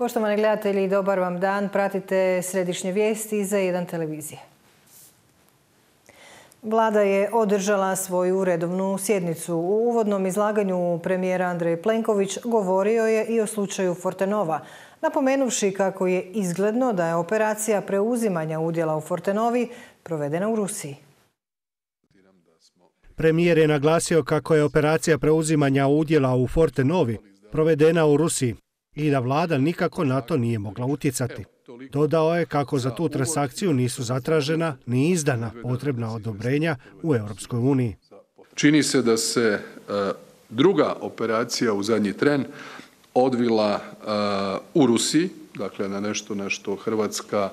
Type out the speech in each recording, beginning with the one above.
Poštovani gledatelji, dobar vam dan. Pratite središnje vijesti za jedan televizije. Vlada je održala svoju redovnu sjednicu. U uvodnom izlaganju premijera Andrej Plenković govorio je i o slučaju Fortenova, napomenuvši kako je izgledno da je operacija preuzimanja udjela u Fortenovi provedena u Rusiji. Premijer je naglasio kako je operacija preuzimanja udjela u Fortenovi provedena u Rusiji i da vlada nikako na to nije mogla utjecati. Dodao je kako za tu transakciju nisu zatražena ni izdana potrebna odobrenja u Europskoj uniji. Čini se da se druga operacija u zadnji tren odvila u Rusiji, dakle na nešto na što hrvatska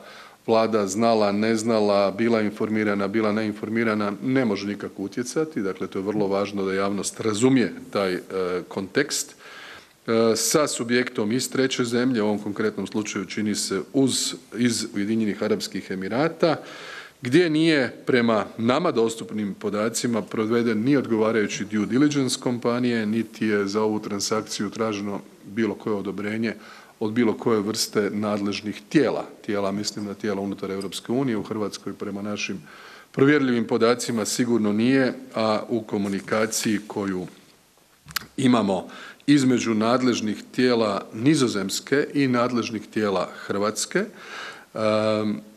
vlada znala, ne znala, bila informirana, bila neinformirana, ne može nikako utjecati. Dakle, to je vrlo važno da javnost razumije taj kontekst. Sa subjektom iz treće zemlje, u ovom konkretnom slučaju čini se iz Ujedinjenih Arapskih Emirata, gdje nije prema nama dostupnim podacima proveden ni odgovarajući due diligence kompanije, niti je za ovu transakciju traženo bilo koje odobrenje od bilo koje vrste nadležnih tijela, mislim na tijela unutar Europske unije. U Hrvatskoj prema našim provjerljivim podacima sigurno nije, a u komunikaciji koju imamo između nadležnih tijela Nizozemske i nadležnih tijela Hrvatske.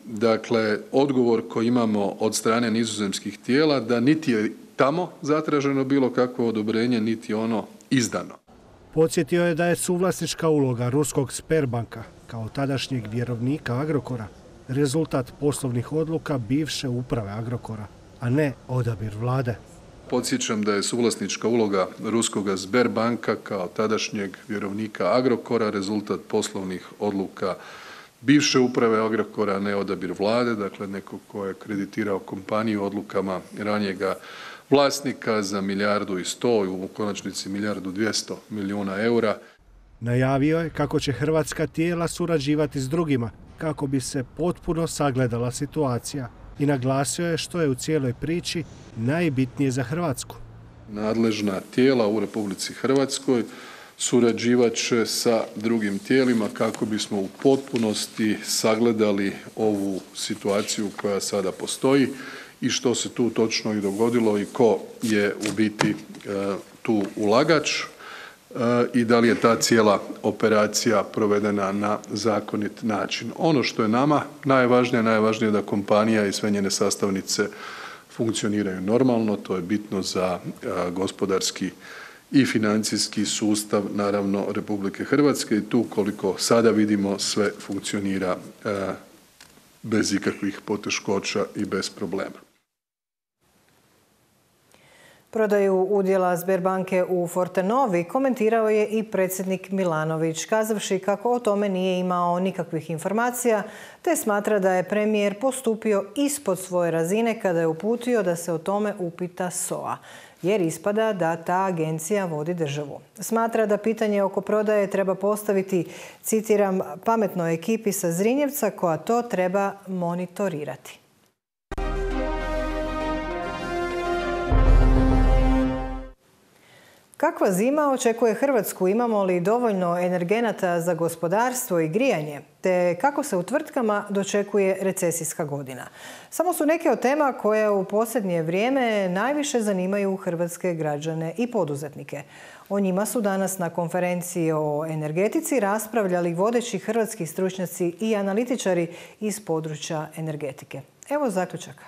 Dakle, odgovor koji imamo od strane nizozemskih tijela da niti je tamo zatraženo bilo kakvo odobrenje, niti ono izdano. Podsjetio je da je suvlasnička uloga ruskog Sberbanka kao tadašnjeg vjerovnika Agrokora rezultat poslovnih odluka bivše uprave Agrokora, a ne odabir vlade. Podsjećam da je suvlasnička uloga ruskoga Sberbanka kao tadašnjeg vjerovnika Agrokora rezultat poslovnih odluka bivše uprave Agrokora, ne odabir vlade, dakle neko ko je kreditirao kompaniju odlukama ranijega vlasnika za 1,1 milijardu i u konačnici 1,2 milijarde eura. Najavio je kako će hrvatska tijela surađivati s drugima kako bi se potpuno sagledala situacija i naglasio je što je u cijeloj priči najbitnije za Hrvatsku. Nadležna tijela u Republici Hrvatskoj surađivat će sa drugim tijelima kako bismo u potpunosti sagledali ovu situaciju koja sada postoji i što se tu točno i dogodilo i ko je u biti tu ulagač i da li je ta cijela operacija provedena na zakonit način. Ono što je nama najvažnije je da kompanija i sve njene sastavnice funkcioniraju normalno, to je bitno za gospodarski i financijski sustav, naravno, Republike Hrvatske i tu koliko sada vidimo sve funkcionira bez ikakvih poteškoća i bez problema. Prodaju udjela Sberbanke u Fortenovi komentirao je i predsjednik Milanović, kazavši kako o tome nije imao nikakvih informacija, te smatra da je premijer postupio ispod svoje razine kada je uputio da se o tome upita SOA, jer ispada da ta agencija vodi državu. Smatra da pitanje oko prodaje treba postaviti, citiram, pametnoj ekipi sa Zrinjevca koja to treba monitorirati. Kakva zima očekuje Hrvatsku? Imamo li dovoljno energenata za gospodarstvo i grijanje? Te kako se u tvrtkama dočekuje recesijska godina? Samo su neke od tema koje u posljednje vrijeme najviše zanimaju hrvatske građane i poduzetnike. O njima su danas na konferenciji o energetici raspravljali vodeći hrvatski stručnjaci i analitičari iz područja energetike. Evo zaključaka.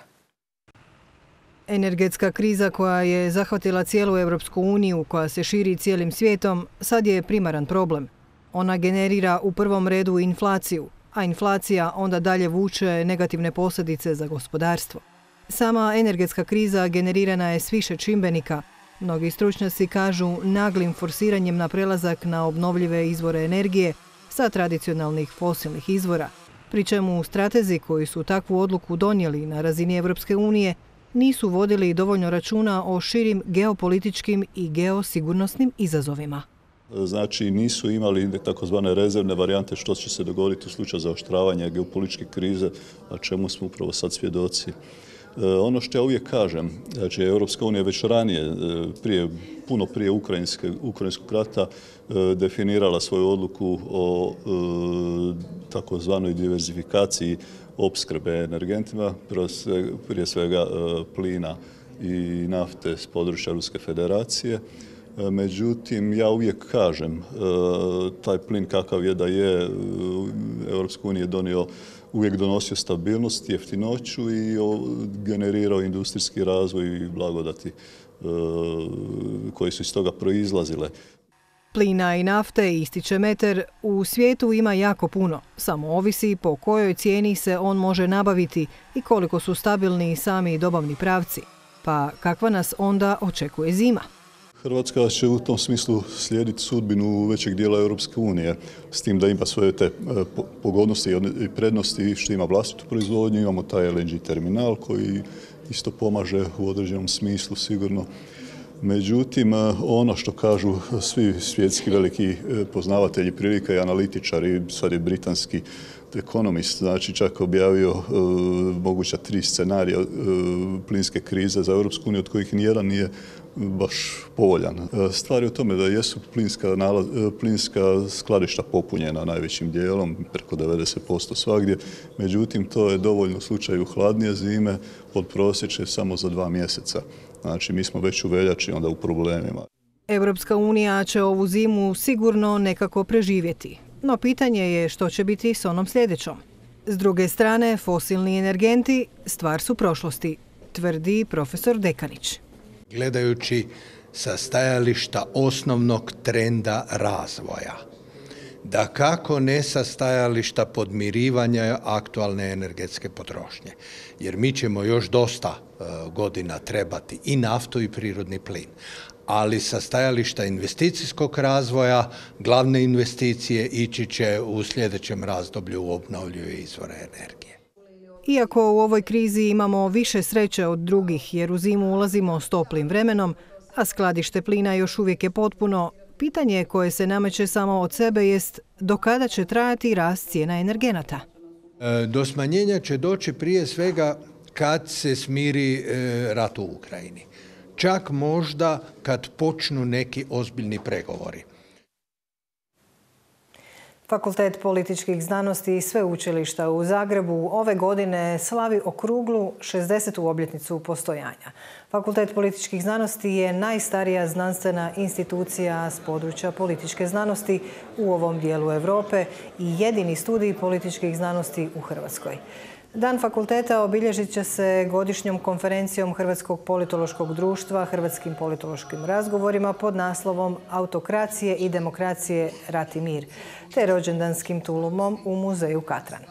Energetska kriza koja je zahvatila cijelu Europsku uniju, koja se širi cijelim svijetom, sad je primaran problem. Ona generira u prvom redu inflaciju, a inflacija onda dalje vuče negativne posljedice za gospodarstvo. Sama energetska kriza generirana je s više čimbenika. Mnogi stručnjaci kažu naglim forsiranjem na prelazak na obnovljive izvore energije sa tradicionalnih fosilnih izvora, pri čemu stratezi koji su takvu odluku donijeli na razini Europske unije nisu vodili dovoljno računa o širim geopolitičkim i geosigurnosnim izazovima. Znači nisu imali takozvane rezervne varijante što će se dogoditi u slučaju zaoštravanja geopolitičke krize, a čemu smo upravo sad svjedoci. Ono što ja uvijek kažem, znači Europska unija već ranije, puno prije ukrajinskog rata, definirala svoju odluku o takozvanoj diverzifikaciji opskrbe energentima, prije svega plina i nafte s područja Ruske federacije. Međutim, ja uvijek kažem, taj plin kakav je da je, Europska unija je uvijek donosio stabilnost, jeftinoću i generirao industrijski razvoj i blagodati koji su iz toga proizlazile. Plina i nafte, ističe Meter, u svijetu ima jako puno. Samo ovisi po kojoj cijeni se on može nabaviti i koliko su stabilni sami dobavni pravci. Pa kakva nas onda očekuje zima? Hrvatska će u tom smislu slijediti sudbinu većeg dijela Europske unije, s tim da ima svoje te pogodnosti i prednosti što ima vlastitu proizvodnju, imamo taj LNG terminal koji isto pomaže u određenom smislu sigurno. Međutim, ono što kažu svi svjetski veliki poznavatelji prilika i analitičari, sad je britanski Economist, znači čak objavio moguća 3 scenarija plinske krize za Europsku uniju, od kojih nijedan nije baš povoljan. Stvar je u tome da jesu plinska skladišta popunjena najvećim dijelom, preko 90% svagdje, međutim to je dovoljno u slučaju hladnije zime, podprosječe samo za 2 mjeseca. Znači mi smo već u veljači onda u problemima. Europska unija će ovu zimu sigurno nekako preživjeti. No pitanje je što će biti s onom sljedećom. S druge strane, fosilni energenti stvar su prošlosti, tvrdi profesor Dekanić. Gledajući sa stajališta osnovnog trenda razvoja, da kako ne sa stajališta podmirivanja aktualne energetske potrošnje, jer mi ćemo još dosta godina trebati i naftu i prirodni plin. Ali sa stajališta investicijskog razvoja, glavne investicije ići će u sljedećem razdoblju u obnovljive izvore energije. Iako u ovoj krizi imamo više sreće od drugih jer u zimu ulazimo s toplim vremenom, a skladište plina još uvijek je potpuno, pitanje koje se nameće samo od sebe jest do kada će trajati rast cijena energenata. Do smanjenja će doći prije svega kad se smiri rat u Ukrajini. Čak možda kad počnu neki ozbiljni pregovori. Fakultet političkih znanosti i sveučilišta u Zagrebu ove godine slavi okruglu 60. obljetnicu postojanja. Fakultet političkih znanosti je najstarija znanstvena institucija s područja političke znanosti u ovom dijelu Europe i jedini studij političkih znanosti u Hrvatskoj. Dan fakulteta obilježit će se godišnjom konferencijom Hrvatskog politološkog društva, Hrvatskim politološkim razgovorima pod naslovom Autokracije i demokracije, rat i mir, te rođendanskim tulumom u muzeju Katran.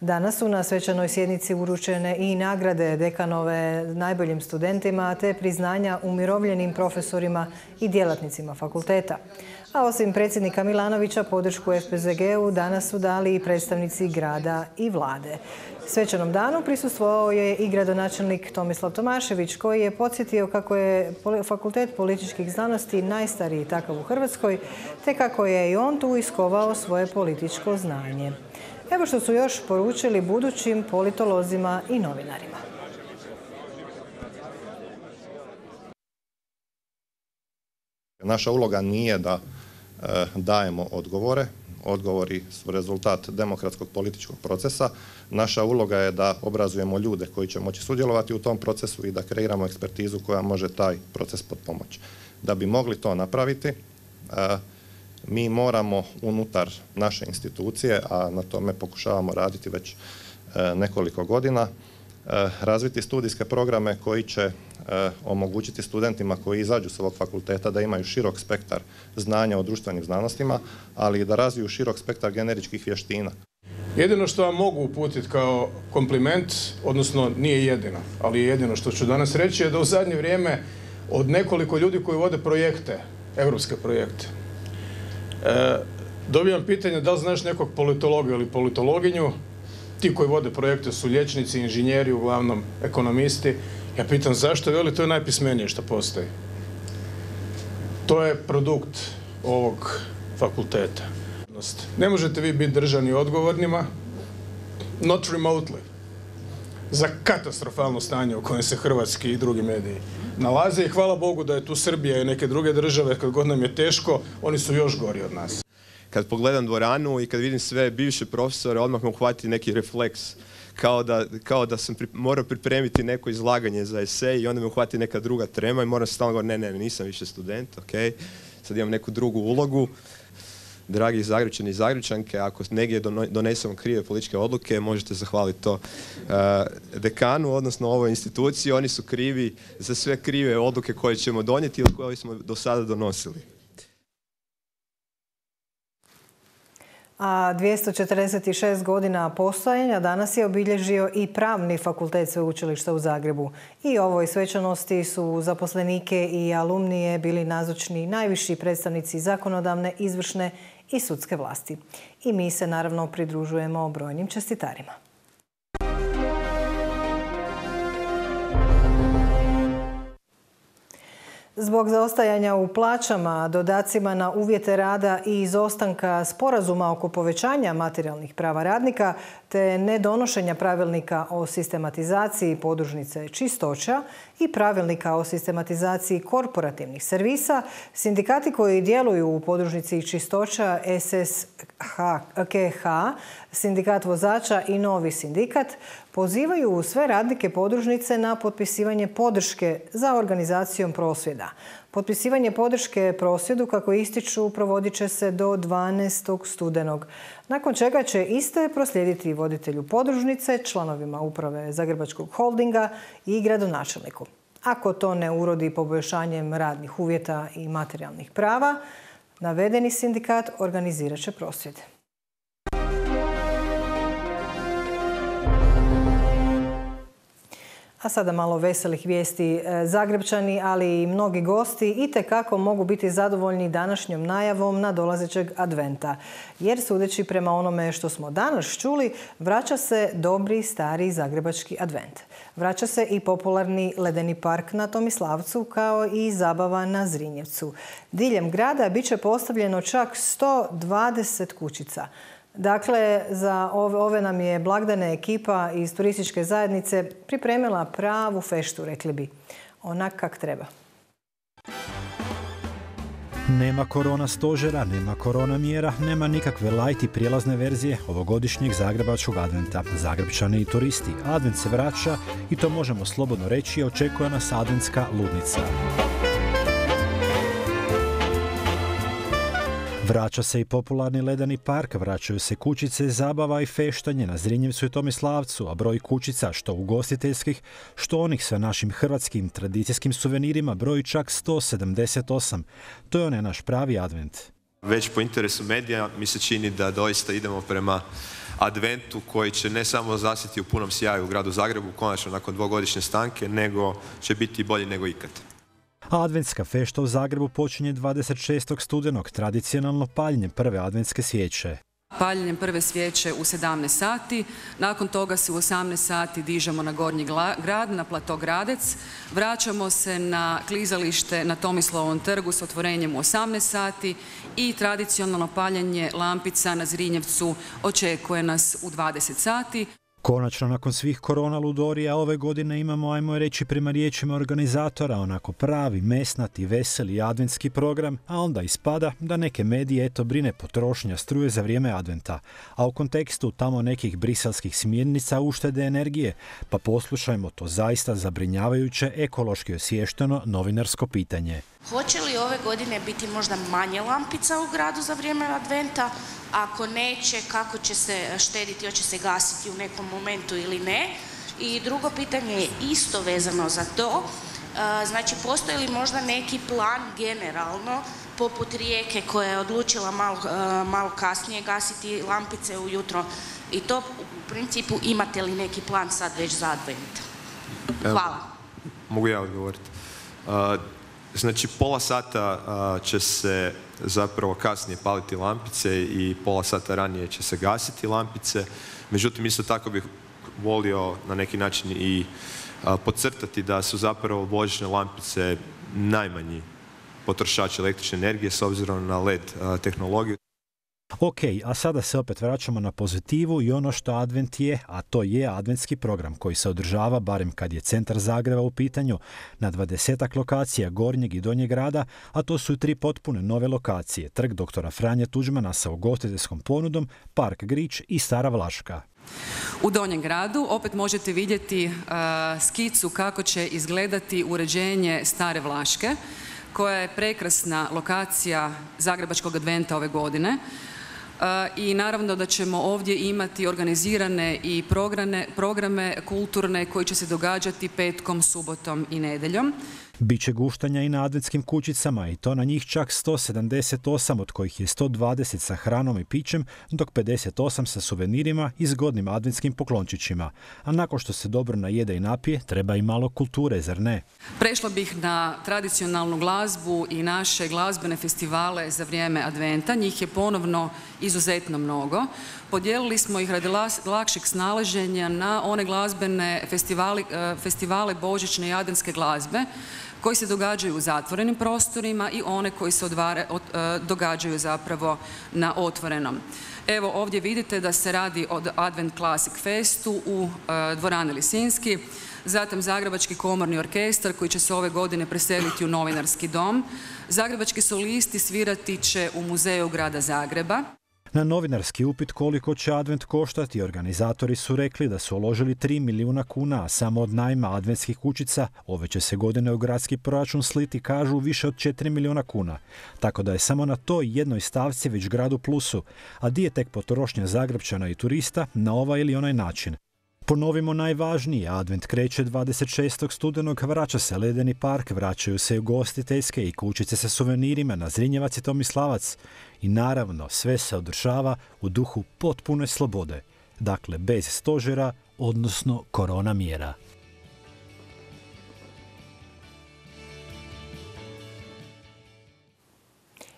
Danas su na svečanoj sjednici uručene i nagrade dekanove najboljim studentima te priznanja umirovljenim profesorima i djelatnicima fakulteta. A osim predsjednika Milanovića, podršku FPZG-u danas su dali i predstavnici grada i vlade. Svečanom danu prisustvovao je i gradonačelnik Tomislav Tomašević, koji je podsjetio kako je Fakultet političkih znanosti najstariji takav u Hrvatskoj, te kako je i on tu iskovao svoje političko znanje. Evo što su još poručili budućim politolozima i novinarima. Naša uloga nije da dajemo odgovore. Odgovori su rezultat demokratskog političkog procesa. Naša uloga je da obrazujemo ljude koji će moći sudjelovati u tom procesu i da kreiramo ekspertizu koja može taj proces potpomoći. Da bi mogli to napraviti, mi moramo unutar naše institucije, a na tome pokušavamo raditi već nekoliko godina, razviti studijske programe koji će omogućiti studentima koji izađu s ovog fakulteta da imaju širok spektar znanja o društvenim znanostima, ali i da razviju širok spektar generičkih vještina. Jedino što vam mogu uputiti kao kompliment, odnosno nije jedino, ali jedino što ću danas reći je da u zadnje vrijeme od nekoliko ljudi koji vode projekte, europske projekte, dobijam pitanje da li znaš nekog politologa ili politologinju. Ti koji vode projekte su liječnici, inženjeri, uglavnom ekonomisti. Ja pitam zašto, veli to je najpismenije što postoji. To je produkt ovog fakulteta. Ne možete vi biti držani odgovornima, not remotely. za katastrofalno stanje u kojem se hrvatski i drugi mediji nalaze i hvala Bogu da je tu Srbija i neke druge države, kad god nam je teško, oni su još gori od nas. Kad pogledam dvoranu i kad vidim sve bivše profesore, odmah me uhvati neki refleks. Kao da sam morao pripremiti neko izlaganje za esej i onda me uhvati neka druga trema i moram se stalno govoriti, ne, nisam više student, ok, sad imam neku drugu ulogu. Dragi Zagrepčani i Zagrepčanke, ako negdje donesemo krive političke odluke, možete zahvaliti to dekanu, odnosno ovoj instituciji. Oni su krivi za sve krive odluke koje ćemo donijeti ili koje smo do sada donosili. A 246 godina postojanja danas je obilježio i Pravni fakultet Sveučilišta u Zagrebu. I ovoj svečanosti su zaposlenike i alumnije bili nazočni najviši predstavnici zakonodavne, izvršne i sudske vlasti. I mi se naravno pridružujemo brojnim čestitarima. Zbog zaostajanja u plaćama, dodacima na uvjete rada i izostanka sporazuma oko povećanja materijalnih prava radnika te nedonošenja pravilnika o sistematizaciji podružnice čistoća i pravilnika o sistematizaciji korporativnih servisa, sindikati koji djeluju u podružnici čistoća SSKH, sindikat vozača i novi sindikat, pozivaju sve radnike podružnice na potpisivanje podrške za organizacijom prosvjeda. Potpisivanje podrške prosvjedu, kako ističu, provodit će se do 12. studenog, nakon čega će iste proslijediti voditelju podružnice, članovima uprave Zagrebačkog holdinga i gradonačelniku. Ako to ne urodi poboljšanjem radnih uvjeta i materijalnih prava, navedeni sindikat organizirat će prosvjed. A sada malo veselih vijesti. Zagrepčani, ali i mnogi gosti itekako mogu biti zadovoljni današnjom najavom nadolazećeg adventa. Jer sudeći prema onome što smo danas čuli, vraća se dobri stari zagrebački advent. Vraća se i popularni ledeni park na Tomislavcu kao i zabava na Zrinjevcu. Diljem grada bit će postavljeno čak 120 kućica. Dakle, za ove nam je blagdane ekipa iz turističke zajednice pripremila pravu feštu, rekli bi. Onak kak treba. Nema korona stožera, nema korona mjera, nema nikakve light i prijelazne verzije ovogodišnjeg zagrebačkog adventa. Zagrepčani i turisti. Advent se vraća i to možemo slobodno reći, očekuje nas adventska ludnica. Vraća se i popularni ledeni park, vraćaju se kućice, zabava i feštanje na Zrinjevcu i Tomislavcu, a broj kućica, što ugostiteljskih, što onih sa našim hrvatskim tradicijskim suvenirima, broji čak 178. To je onaj naš pravi advent. Već po interesu medija mi se čini da doista idemo prema adventu koji će ne samo zasjeti u punom sjaju u gradu Zagrebu, konačno nakon dvogodišnje stanke, nego će biti bolji nego ikad. Adventska fešta u Zagrebu počinje 26. studenog, tradicionalno paljenjem prve adventske svijeće. Paljenjem prve svijeće u 17 sati, nakon toga se u 18 sati dižemo na Gornji grad, na plato Gradec, vraćamo se na klizalište na Tomislavovom trgu s otvorenjem u 18 sati i tradicionalno paljenje lampica na Zrinjevcu očekuje nas u 20 sati. Konačno, nakon svih korona ludorija, ove godine imamo, ajmo reći prema riječima organizatora, onako pravi, mesnati, veseli adventski program, a onda ispada da neke medije brine potrošnja struje za vrijeme adventa, a u kontekstu tamo nekih briselskih smjernica uštede energije, pa poslušajmo to zaista zabrinjavajuće, ekološki osviješteno novinarsko pitanje. Hoće li ove godine biti možda manje lampica u gradu za vrijeme adventa? Ako neće, kako će se štediti, hoće se gasiti u nekom momentu ili ne? I drugo pitanje je isto vezano za to. Znači, postoji li možda neki plan generalno, poput Rijeke koja je odlučila malo kasnije gasiti lampice ujutro? I to u principu imate li neki plan sad već za advent? Hvala. Mogu ja odgovoriti. Znači, pola sata će se zapravo kasnije paliti lampice i pola sata ranije će se gasiti lampice. Međutim, isto tako bih volio na neki način i podcrtati da su zapravo božićne lampice najmanji potrošači električne energije s obzirom na LED tehnologiju. Ok, a sada se opet vraćamo na pozitivu i ono što Advent je, a to je adventski program koji se održava, barem kad je centar Zagreba u pitanju, na 20 lokacija Gornjeg i Donjeg grada, a to su i 3 potpune nove lokacije, Trg doktora Franje Tuđmana sa ugostiteljskom ponudom, Park Grič i Stara Vlaška. U Donjem gradu opet možete vidjeti skicu kako će izgledati uređenje Stare Vlaške, koja je prekrasna lokacija Zagrebačkog adventa ove godine. I naravno da ćemo ovdje imati organizirane i programe kulturne koji će se događati petkom, subotom i nedjeljom. Biće guštanja i na adventskim kućicama i to na njih čak 178, od kojih je 120 sa hranom i pićem, dok 58 sa suvenirima i zgodnim adventskim poklončićima. A nakon što se dobro najede i napije, treba i malo kulture, zar ne? Prešla bih na tradicionalnu glazbu i naše glazbene festivale za vrijeme adventa. Njih je ponovno izuzetno mnogo. Podijelili smo ih radi lakšeg snalaženja na one glazbene festivale božićne i adventske glazbe koji se događaju u zatvorenim prostorima i one koji se događaju zapravo na otvorenom. Evo ovdje vidite da se radi o Advent Classic Festu u dvorani Lisinski, zatim Zagrebački komorni orkestar koji će se ove godine preseliti u Novinarski dom. Zagrebački solisti svirati će u Muzeju grada Zagreba. Na novinarski upit koliko će advent koštati, organizatori su rekli da su uložili 3 milijuna kuna, a samo od najma adventskih kućica ove će se godine u gradski proračun sliti, kažu, više od 4 milijuna kuna. Tako da je samo na toj jednoj stavci već grad u plusu, a di je tek potrošnja Zagrepčana i turista na ovaj ili onaj način. Ponovimo najvažnije, advent kreće 26. studenog, vraća se ledeni park, vraćaju se ugostiteljske i kućice sa suvenirima na Zrinjevac i Tomislavac. I naravno, sve se održava u duhu potpune slobode. Dakle, bez stožera, odnosno korona mjera.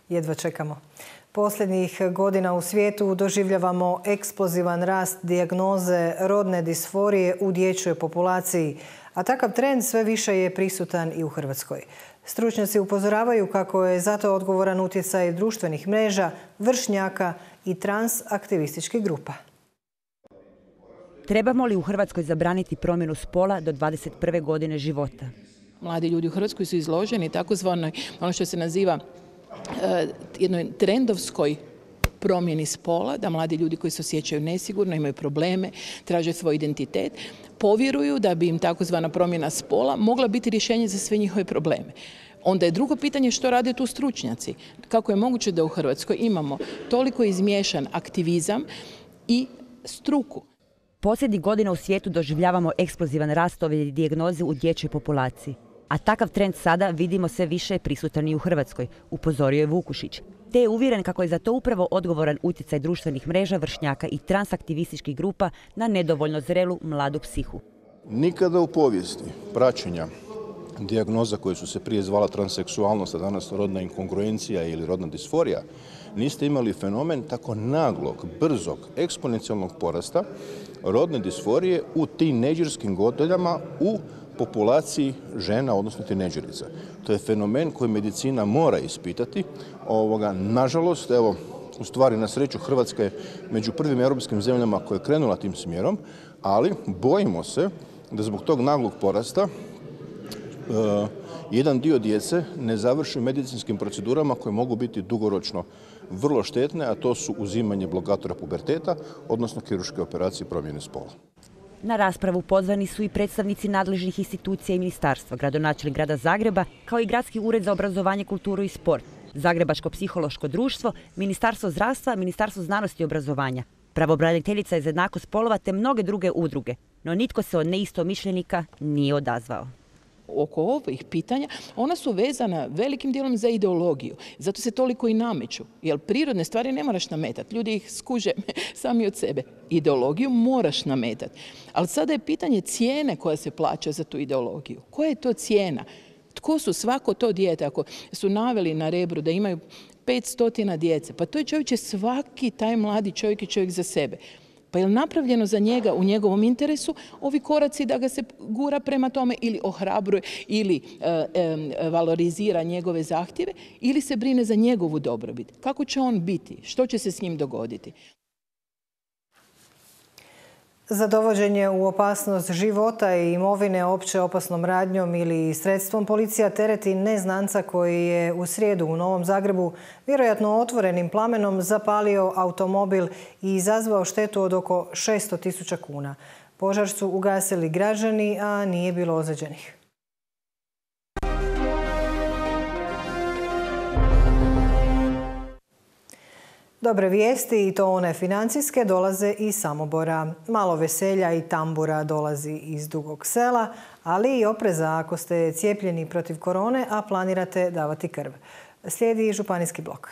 Jedva čekamo. Posljednjih godina u svijetu doživljavamo eksplozivan rast dijagnoze rodne disforije u dječjoj populaciji, a takav trend sve više je prisutan i u Hrvatskoj. Stručnjaci upozoravaju kako je zato odgovoran utjecaj društvenih mreža, vršnjaka i transaktivističkih grupa. Trebamo li u Hrvatskoj zabraniti promjenu spola do 21. godine života? Mladi ljudi u Hrvatskoj su izloženi takozvanoj, ono što se naziva jednoj trendovskoj promjeni spola, da mladi ljudi koji se osjećaju nesigurno, imaju probleme, traže svoj identitet, povjeruju da bi im takozvana promjena spola mogla biti rješenje za sve njihove probleme. Onda je drugo pitanje što rade tu stručnjaci. Kako je moguće da u Hrvatskoj imamo toliko izmiješan aktivizam i struku? Posljednjih godina u svijetu doživljavamo eksplozivan rast ove dijagnoze u dječjoj populaciji. A takav trend sada vidimo sve više prisutan i u Hrvatskoj, upozorio je Vukušić. Te je uvjeren kako je za to upravo odgovoran utjecaj društvenih mreža, vršnjaka i transaktivističkih grupa na nedovoljno zrelu mladu psihu. Nikada u povijesti praćenja dijagnoza koje su se prije zvala transseksualnost, a danas rodna inkongruencija ili rodna disforija, niste imali fenomen tako naglog, brzog, eksponencijalnog porasta rodne disforije u tinejdžerskim godinama u populaciji žena, odnosno tinejdžerica. To je fenomen koji medicina mora ispitati. Nažalost, evo, u stvari na sreću Hrvatska je među prvim europskim zemljama koja je krenula tim smjerom, ali bojimo se da zbog tog naglog porasta jedan dio djece ne završi medicinskim procedurama koje mogu biti dugoročno vrlo štetne, a to su uzimanje blokatora puberteta, odnosno kirurške operacije promjene spola. Na raspravu pozvani su i predstavnici nadležnih institucija i ministarstva, gradonačelnik grada Zagreba, kao i Gradski ured za obrazovanje, kulturu i sport, Zagrebačko psihološko društvo, Ministarstvo zdravstva, Ministarstvo znanosti i obrazovanja, pravobraniteljica za jednakost spolova te mnoge druge udruge, no nitko se od neistomišljenika nije odazvao. Oko ovih pitanja, ona su vezana velikim dijelom za ideologiju. Zato se toliko i nameću. Jer prirodne stvari ne moraš nametati. Ljudi ih skuže sami od sebe. Ideologiju moraš nametati. Ali sada je pitanje cijene koja se plaća za tu ideologiju. Koja je to cijena? Tko su svako to dijete? Ako su naveli na Rebru da imaju 500 djece, pa to je čovječe svaki taj mladi čovjek i čovjek za sebe. Pa Pa je li napravljeno za njega u njegovom interesu ovi koraci da ga se gura prema tome ili ohrabruje ili valorizira njegove zahtjeve ili se brine za njegovu dobrobit? Kako će on biti? Što će se s njim dogoditi? Za dovođenje u opasnost života i imovine opće opasnom radnjom ili sredstvom policija tereti neznanca koji je u srijedu u Novom Zagrebu vjerojatno otvorenim plamenom zapalio automobil i izazvao štetu od oko 600.000 kuna. Požar su ugasili građani, a nije bilo ozlijeđenih. Dobre vijesti, i to one financijske, dolaze iz Samobora. Malo veselja i tambura dolazi iz Dugog Sela, ali i opreza ako ste cijepljeni protiv korone, a planirate davati krv. Slijedi županijski blok.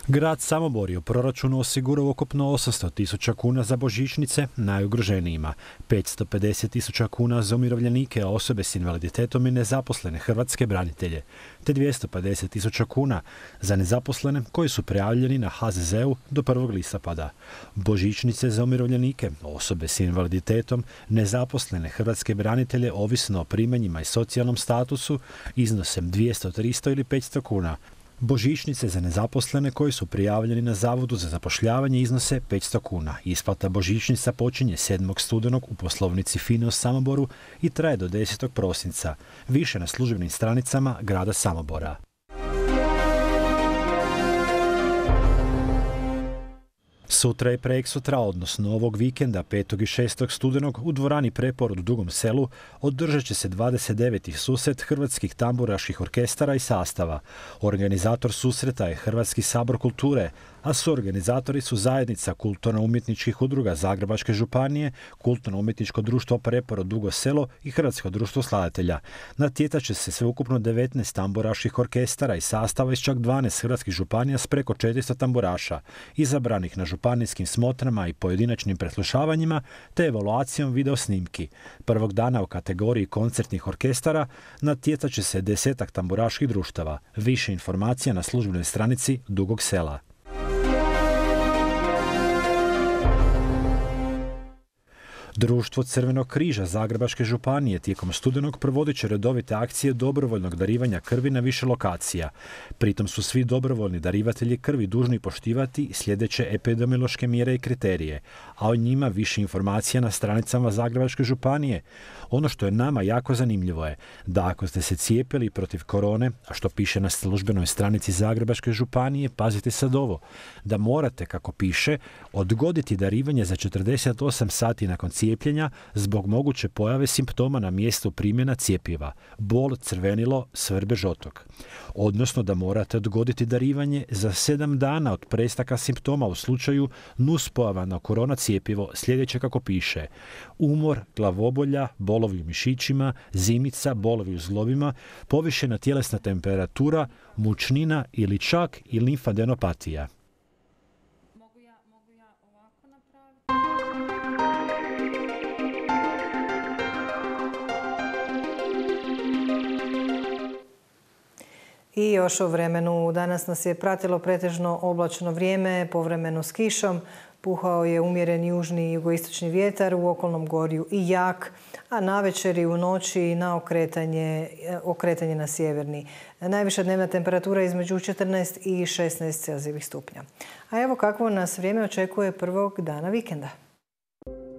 Grad Samobor je u proračunu osigurao ukupno 800.000 kuna za božićnice najugroženijima, 550.000 kuna za umirovljenike, osobe s invaliditetom i nezaposlene hrvatske branitelje, te 250.000 kuna za nezaposlene koji su prijavljeni na HZZ-u do 1. listopada. Božićnice za umirovljenike, osobe s invaliditetom, nezaposlene hrvatske branitelje ovisno o primanjima i socijalnom statusu iznose 200, 300 ili 500 kuna. Božićnice za nezaposlene koji su prijavljeni na Zavodu za zapošljavanje iznose 500 kuna. Isplata božićnica počinje 7. studenog u poslovnici FINA u Samoboru i traje do 10. prosinca. Više na službenim stranicama grada Samobora. Sutra i preksutra, odnosno ovog vikenda 5. i 6. studenog u dvorani Preporod u Dugom Selu održat će se 29. susret hrvatskih tamburaških orkestara i sastava. Organizator susreta je Hrvatski sabor kulture, a suorganizatori su Zajednica kulturno-umjetničkih udruga Zagrebačke županije, Kulturno-umjetničko društvo Preporod Dugo Selo i Hrvatsko društvo skladatelja. Natjecat će se sveukupno 19 tamburaških orkestara i sastava iz čak 12 hrvatskih županija s preko 400 tamburaša, izabranih na županijskim smotrama i pojedinačnim preslušavanjima te evaluacijom video snimki. Prvog dana u kategoriji koncertnih orkestara natjecat će se 10 tamburaških društava. Više informacija na službenoj stranici Dugog Sela. Društvo Crvenog križa Zagrebačke županije tijekom studenog provodit će redovite akcije dobrovoljnog darivanja krvi na više lokacija. Pritom su svi dobrovoljni darivatelji krvi dužni poštivati sljedeće epidemiološke mjere i kriterije, a o njima više informacija na stranicama Zagrebačke županije. Ono što je nama jako zanimljivo je da ako ste se cijepili protiv korone, a što piše na službenoj stranici Zagrebačke županije, pazite sad ovo, da morate, kako piše, odgoditi darivanje za 48 sati nakon cijepljenja zbog moguće pojave simptoma na mjestu primjena cjepiva, bol, crvenilo, svrbež, otok. Odnosno da morate odgoditi darivanje za 7 dana od prestaka simptoma u slučaju nuspojava na korona cjepivo sljedeće kako piše: umor, glavobolja, bolovi u mišićima, zimica, bolovi u zglobima, povišena tjelesna temperatura, mučnina ili čak i limfadenopatija. I još o vremenu. Danas nas je pratilo pretežno oblačno vrijeme, povremeno s kišom. Puhao je umjeren južni i jugoistočni vjetar, u okolnom gorju i jak, a navečer i u noći na okretanje na sjeverni. Najviša dnevna temperatura između 14 i 16 celzijevih stupnja. A evo kakvo nas vrijeme očekuje prvog dana vikenda.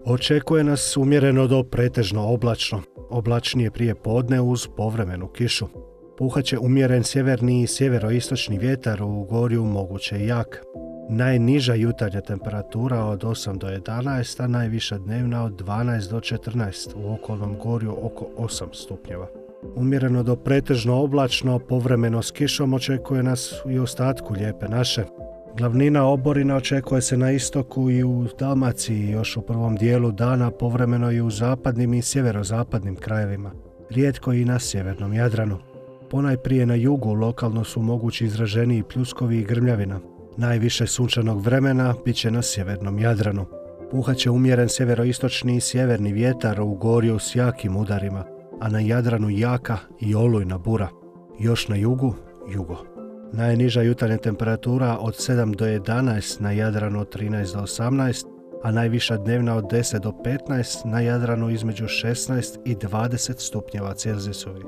Očekuje nas umjereno do pretežno oblačno. Oblačnije prije podne uz povremenu kišu. Puhaće umjeren sjeverni i sjeveroistočni vjetar, u gorju moguće jak. Najniža jutarnja temperatura od 8 do 11, a najviša dnevna od 12 do 14, u okolnom gorju oko 8 stupnjeva. Umjereno do pretežno oblačno, povremeno s kišom očekuje nas i u ostatku Lijepe naše. Glavnina oborina očekuje se na istoku i u Dalmaciji, još u prvom dijelu dana, povremeno i u zapadnim i sjeverozapadnim krajevima. Rijetko i na sjevernom Jadranu. Ponajprije na jugu lokalno su mogući izraženiji pljuskovi i grmljavina. Najviše sunčanog vremena bit će na sjevernom Jadranu. Puhaće umjeren sjeveroistočni i sjeverni vjetar, u gorju s jakim udarima, a na Jadranu jaka i olujna bura. Još na jugu, jugo. Najniža jutarnja temperatura od 7 do 11, na Jadranu od 13 do 18, a najviša dnevna od 10 do 15, na Jadranu između 16 i 20 stupnjeva Celzijusovi.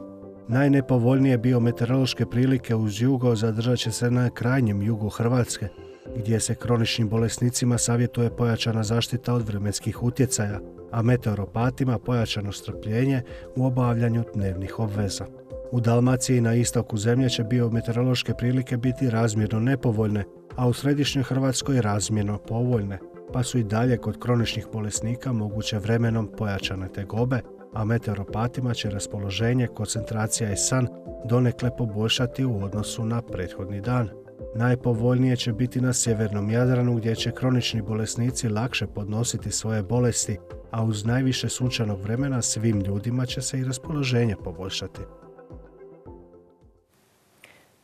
Najnepovoljnije biometeorološke prilike uz jugo zadržat će se na krajnjem jugu Hrvatske, gdje se kroničnim bolesnicima savjetuje pojačana zaštita od vremenskih utjecaja, a meteoropatima pojačano strpljenje u obavljanju dnevnih obveza. U Dalmaciji i na istoku zemlje će biometeorološke prilike biti razmjerno nepovoljne, a u središnjoj Hrvatskoj razmjerno povoljne, pa su i dalje kod kroničnih bolesnika moguće vremenom pojačane tegobe, a meteoropatima će raspoloženje, koncentracija i san donekle poboljšati u odnosu na prethodni dan. Najpovoljnije će biti na sjevernom Jadranu, gdje će kronični bolesnici lakše podnositi svoje bolesti, a uz najviše sunčanog vremena svim ljudima će se i raspoloženje poboljšati.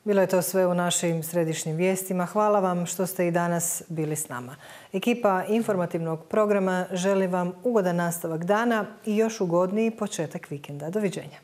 Bilo je to sve u našim središnjim vijestima. Hvala vam što ste i danas bili s nama. Ekipa informativnog programa želi vam ugodan nastavak dana i još ugodniji početak vikenda. Doviđenja.